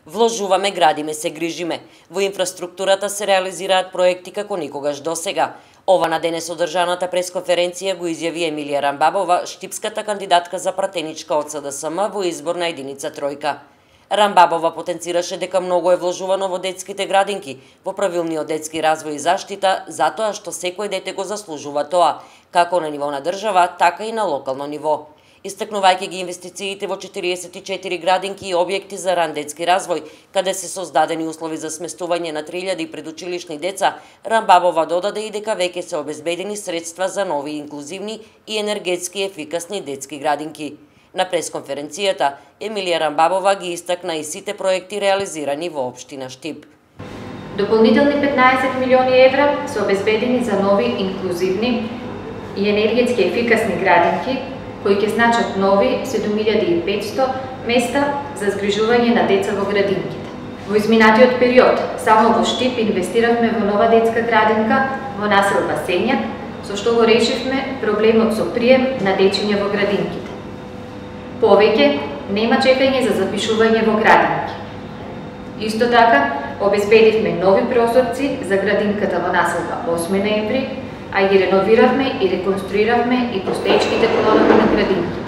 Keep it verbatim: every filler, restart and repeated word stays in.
Вложуваме, градиме, се грижиме. Во инфраструктурата се реализираат проекти како никогаш досега. Ова на денес одржаната пресконференција го изјави Емилија Рамбабова, штипската кандидатка за пратеничка од С Д С М во изборна единица Тројка. Рамбабова потенцираше дека многу е вложувано во детските градинки, во правилниот детски развој и заштита, затоа што секој дете го заслужува тоа, како на ниво на држава, така и на локално ниво. Истакнувајќи ги инвестициите во четириесет и четири градинки и објекти за ран детски развој, каде се создадени услови за сместување на три илјади предучилишни деца, Рамбабова додаде и дека веќе се обезбедени средства за нови инклузивни и енергетски ефикасни детски градинки. На пресконференцијата, Емилија Рамбабова ги истакна и сите проекти реализирани во општина Штип. Дополнителни петнаесет милиони евра се обезбедени за нови инклузивни и енергетски ефикасни градинки, кои ќе значат нови седум илјади и петсто места за згрижување на деца во градинките. Во изминатиот период, само во Штип инвестиравме во нова детска градинка во населба Сењак, со што го решивме проблемот со прием на дечиња во градинките. Повеќе нема чекање за запишување во градинки. Исто така, обезбедивме нови прозорци за градинката во населба осми ноември, а ги реновиравме и реконструиравме и постоечките колони на градинки.